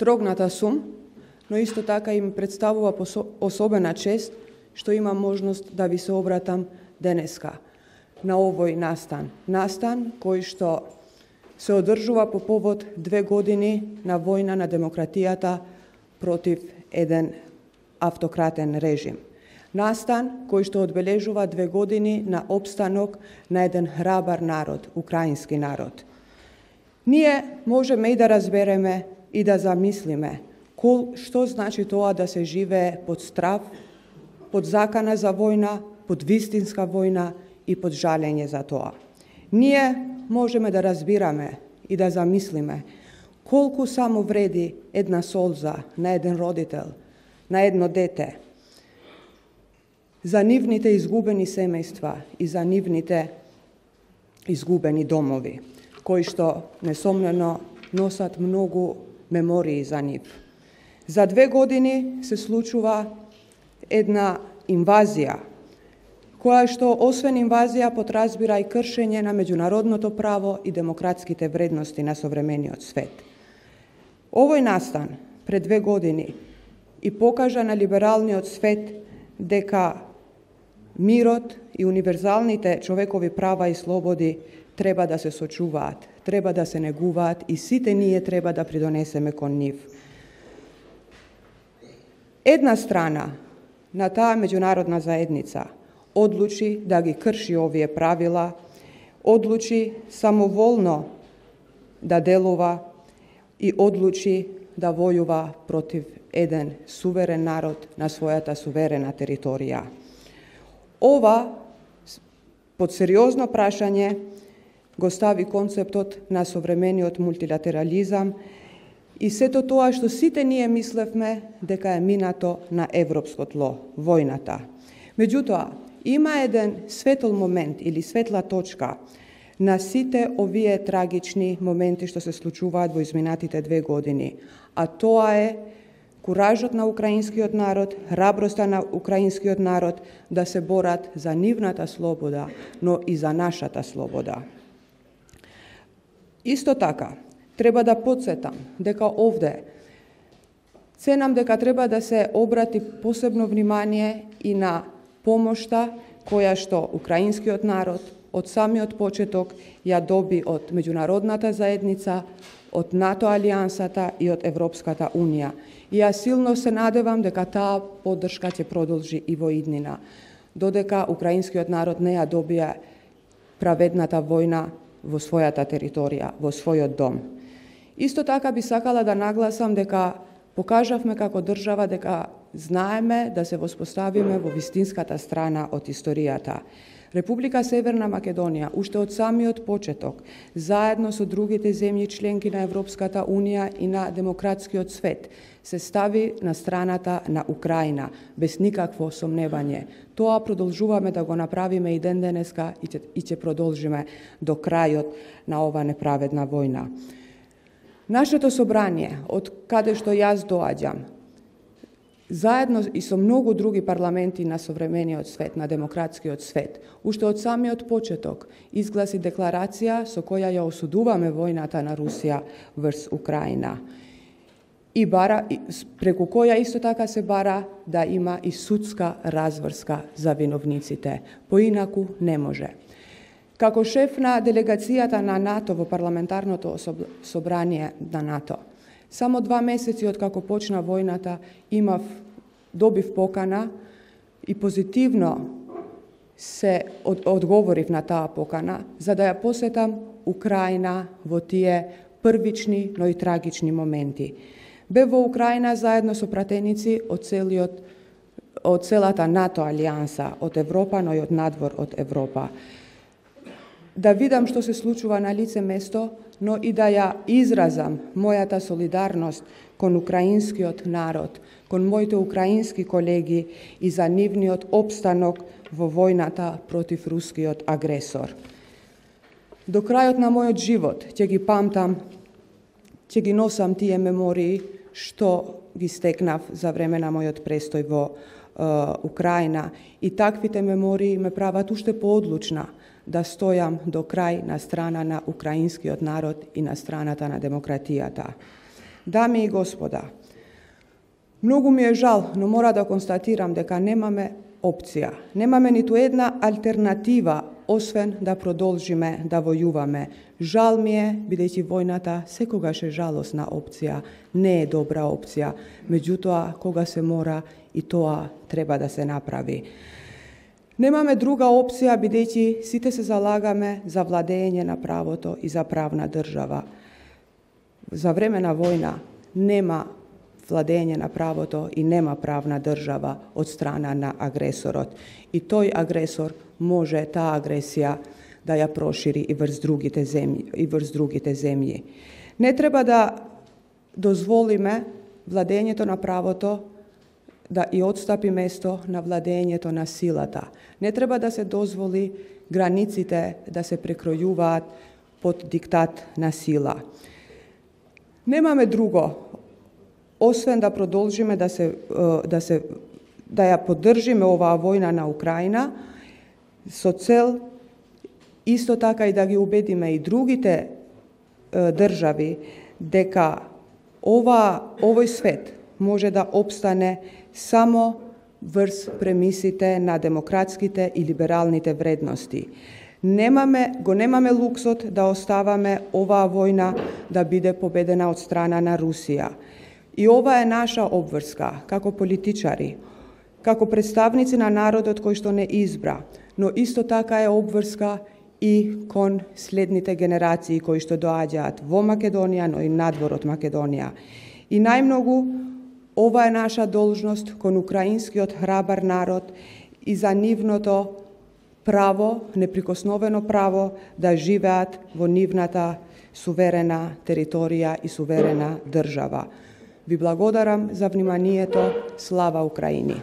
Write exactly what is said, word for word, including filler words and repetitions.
Трогната сум, но исто така им представува особена чест што имам можност да ви се обратам денеска на овој настан. Настан кој што се одржува по повод две години на војна на демократијата против еден автократен режим. Настан кој што одбележува две години на опстанок на еден храбар народ, украински народ. Ние можеме и да разбереме и да замислиме кол, што значи тоа да се живее под страв, под закана за војна, под вистинска војна и под жалење за тоа. Ние можеме да разбираме и да замислиме колку само вреди една солза на еден родител, на едно дете, за нивните изгубени семејства и за нивните изгубени домови, кои што несомнено носат многу мемории за нив. За две години се случува една инвазија, која што освен инвазија подразбира и кршење на меѓународното право и демократските вредности на современиот свет. Овој настан пред две години и покажа на либералниот свет дека мирот и универзалните човекови права и слободи треба да се сочуваат, треба да се негуваат и сите ние треба да придонесеме кон нив. Една страна на таа меѓународна заедница одлучи да ги крши овие правила, одлучи самоволно да делува и одлучи да војува против еден суверен народ на својата суверена територија. Ова под сериозно прашање го стави концептот на современиот мултилатерализам и сето тоа што сите ние мислевме дека е минато на европско тло, војната. Меѓутоа, има еден светол момент или светла точка на сите овие трагични моменти што се случуваат во изминатите две години, а тоа е куражот на украинскиот народ, храброста на украинскиот народ да се борат за нивната слобода, но и за нашата слобода. Исто така, треба да подсетам дека овде ценам дека треба да се обрати посебно внимание и на помошта која што украинскиот народ од самиот почеток ја доби од меѓународната заедница, од НАТО алијансата и од Европската унија. И јас силно се надевам дека таа поддршка ќе продолжи и во иднина, додека украинскиот народ не ја добија праведната војна во својата територија, во својот дом. Исто така би сакала да нагласам дека покажавме како држава дека знаеме да се воспоставиме во вистинската страна од историјата. Република Северна Македонија, уште од самиот почеток, заедно со другите земји членки на Европската унија и на демократскиот свет, се стави на страната на Украина, без никакво сомневање. Тоа продолжуваме да го направиме и ден денеска и ќе, и ќе продолжиме до крајот на ова неправедна војна. Нашето собрание, од каде што јас доаѓам, заедно и со многу други парламенти на современиот свет, на демократскиот свет, уште од самиот почеток изгласи декларација со која ја осудуваме војната на Русија врз Украина. И бара, преку која исто така се бара да има и судска разврска за виновниците. Поинаку не може. Како шеф на делегацијата на НАТО во парламентарното собрание на НАТО, само два месеци од како почна војната, имав, добив покана и позитивно се од, одговорив на таа покана, за да ја посетам Украина во тие првични, но и трагични моменти. Бе во Украина заедно со пратеници од целиот, од целата НАТО алијанса, од Европа, но и од надвор од Европа. Да видам што се случува на лице место, но и да ја изразам мојата солидарност кон украинскиот народ, кон моите украински колеги и за нивниот опстанок во војната против рускиот агресор. До крајот на мојот живот ќе ги памтам, ќе ги носам тие мемории што ги стекнав за време на мојот престој во е, Украина, и таквите мемории ме прават уште поодлучна да стојам до крај на страна на украинскиот народ и на страната на демократијата. Дами и господа, многу ми е жал, но мора да констатирам дека немаме опција. Немаме ниту една алтернатива, освен да продолжиме да војуваме. Жал ми е, бидејќи војната секогаш е жалосна опција, не е добра опција. Меѓутоа, кога се мора, и тоа треба да се направи. Немаме друга опција, бидејќи сите се залагаме за владење на правото и за правна држава. За време на војна нема владење на правото и нема правна држава од страна на агресорот. И тој агресор може таа агресија да ја прошири и врз другите земји, и врз другите земји. Не треба да дозволиме владењето на правото да и отстапи место на владењето на силата. Не треба да се дозволи границите да се прекројуваат под диктат на сила. Немаме друго, освен да продолжиме да се да се да ја поддржиме оваа војна на Украина со цел исто така и да ги убедиме и другите е, држави дека ова овој свет може да обстане само врз премисите на демократските и либералните вредности. Немаме, го немаме луксот да оставаме оваа војна да биде победена од страна на Русија. И ова е наша обврска, како политичари, како представници на народот кој што не избра, но исто така е обврска и кон следните генерации кои што доаѓаат во Македонија, но и надвор од Македонија. И најмногу, ова е наша должност кон украинскиот храбар народ и за нивното право, неприкосновено право да живеат во нивната суверена територија и суверена држава. Ви благодарам за вниманието. Слава Украини!